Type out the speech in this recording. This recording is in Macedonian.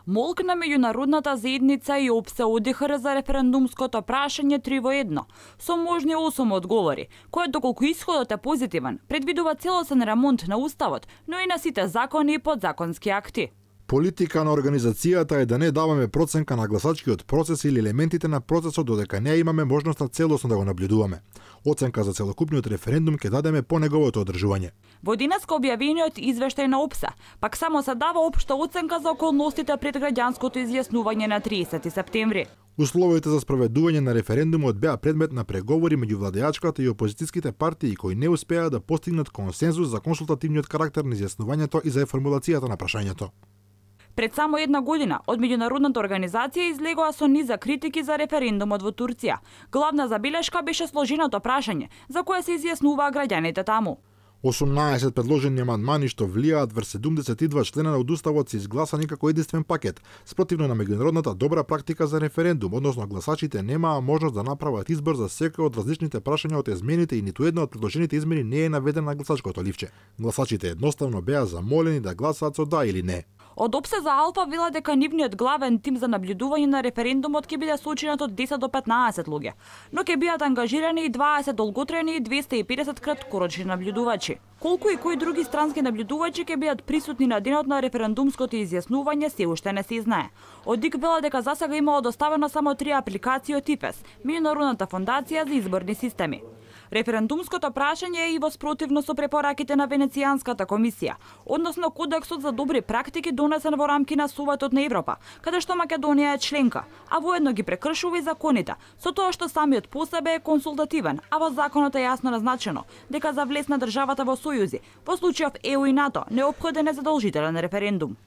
Молк на меѓународната заедница и ОПСЕ ОДИХР за референдумското прашање 3-во-1, со можни 8 одговори, кој доколку исходот е позитивен, предвидува целосен ремонт на уставот, но и на сите закони и подзаконски акти. Политика на организацијата е да не даваме проценка на гласачкиот процес или елементите на процесот додека не имаме можноста целосно да го наблюдуваме. Оценка за целокупниот референдум ќе дадеме по неговото одржување. Во денеска објавениот извештај на ОПСЕ, пак само се дава општа оценка за околностите пред граѓанското изјаснување на 30 септември. Условите за спроведување на референдумот беа предмет на преговори меѓу владеачката и опозицијските партии кои не успеа да постигнат консензус за консултативниот карактер на изјаснувањето и за формулацијата на прашањето. Пред само една година, од меѓународната организација излегоа со низа критики за референдумот во Турција. Главна забелешка беше сложеното прашање, за кое се изјаснуваа граѓаните таму. 18 предложени амандмани што влијаат врз 72 члена од уставот се изгласани како единствен пакет, спротивно на меѓународната добра практика за референдум, односно гласачите немаа можност да направат избор за секој од различните прашања од измените и ниту една од предложените измени не е наведена на гласачкото ливче. Гласачите едноставно беа замолени да гласаат со да или не. Од ОПСЕ за Алфа вела дека нивниот главен тим за наблюдување на референдумот ќе биде сочинат од 10 до 15 луѓе, но ќе бидат ангажирани и 20 долготрени и 250 краткорочни наблюдувачи. Колку и кои други странски наблюдувачи ќе бидат присутни на денот на референдумското изјаснување се уште не се знае. Од ДИК вела дека засега имало доставено само 3 апликации од ИПЕС, Меѓународната фондација за изборни системи. Референдумското прашање е и во спротивно со препораките на Венецијанската комисија, односно Кодексот за добри практики донесен во рамки на Советот на Европа, каде што Македонија е членка, а воедно ги прекршува и законите, со тоа што самиот по себе е консултативен, а во законот е јасно назначено дека за влез на државата во сојузи, во случајов ЕУ и НАТО, неопходен е задолжителен референдум.